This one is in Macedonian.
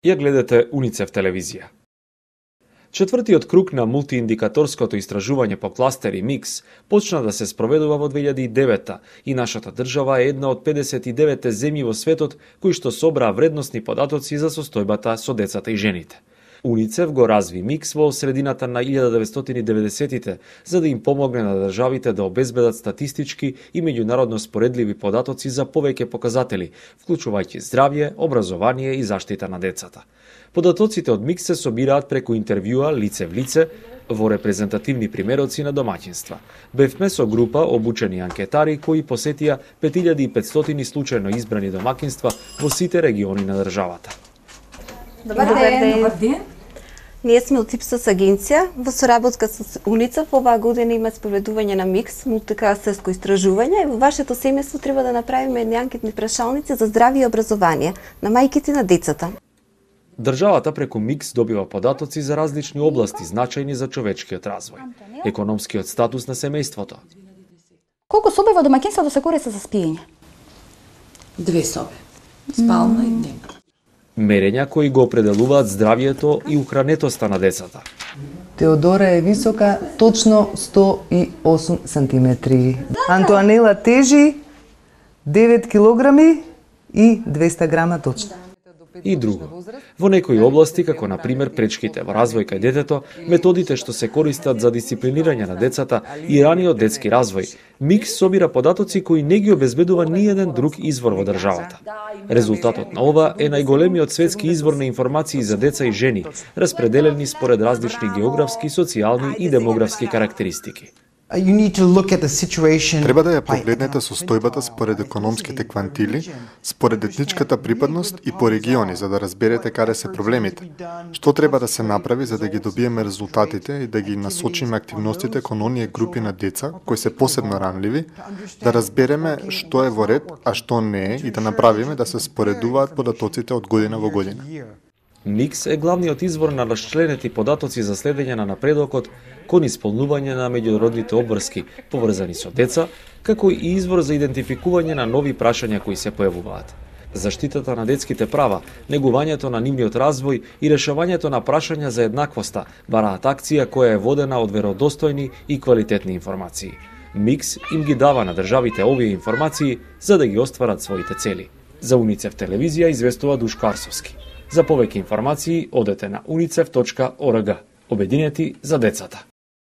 Ја гледате Уницев телевизија. Четвртиот круг на мултииндикаторското истражување по кластери МИКС почна да се спроведува во 2009 и нашата држава е една од 59 земји во светот кои што собраа вредносни податоци за состојбата со децата и жените. Уницев го разви МИКС во средината на 1990-тите, за да им помогне на државите да обезбедат статистички и меѓународно споредливи податоци за повеќе показатели, вклучувајќи здравје, образование и заштита на децата. Податоците од МИКС се собираат преку интервјуа лице в лице во репрезентативни примероци на домаќинства. Бевме со група обучени анкетари кои посетија 5500 случајно избрани домаќинства во сите региони на државата. Добар ден. Ние сме од ИПСОС агенција, во соработка со Уницев оваа година има спроведување на МИКС, мултикластерско истражување, и во вашето семејство треба да направиме едни анкетни прашалници за здравје и образование на мајките и на децата. Државата преку МИКС добива податоци за различни области значајни за човечкиот развој, економскиот статус на семејството. Колку соби во домаќинството се користат за спиење? 2 соби. Спална и дневна. Мерења кои го определуваат здравјето и ухранетоста на децата. Теодора е висока точно 108 сантиметри. Антоанела тежи 9 килограми и 200 грама точно. И друго. Во некои области, како на пример пречките во развој кај детето, методите што се користат за дисциплинирање на децата и раниот детски развој, МИКС собира податоци кои не ги обезбедува ниеден друг извор во државата. Резултатот на ова е најголемиот светски извор на информации за деца и жени, распределени според различни географски, социјални и демографски карактеристики. Треба да ја погледнете состојбата според економските квантили, според етничката припадност и по региони, за да разберете каде се проблемите. Што треба да се направи за да ги добиеме резултатите и да ги насочиме активностите кон оние групи на деца кои се посебно ранливи, да разбереме што е во ред, а што не е и да направиме да се споредуваат податоците од година во година. МИКС е главниот извор на расчленети податоци за следење на напредокот кон исполнување на меѓународните обврски поврзани со деца, како и извор за идентификување на нови прашања кои се појавуваат. Заштитата на детските права, негувањето на нивниот развој и решавањето на прашања за еднаквоста бараат акција која е водена од веродостојни и квалитетни информации. МИКС им ги дава на државите овие информации за да ги остварат своите цели. За Уницев телевизија известува Душко Арсовски. За повеќе информации одете на unicef.org. Обединети за децата.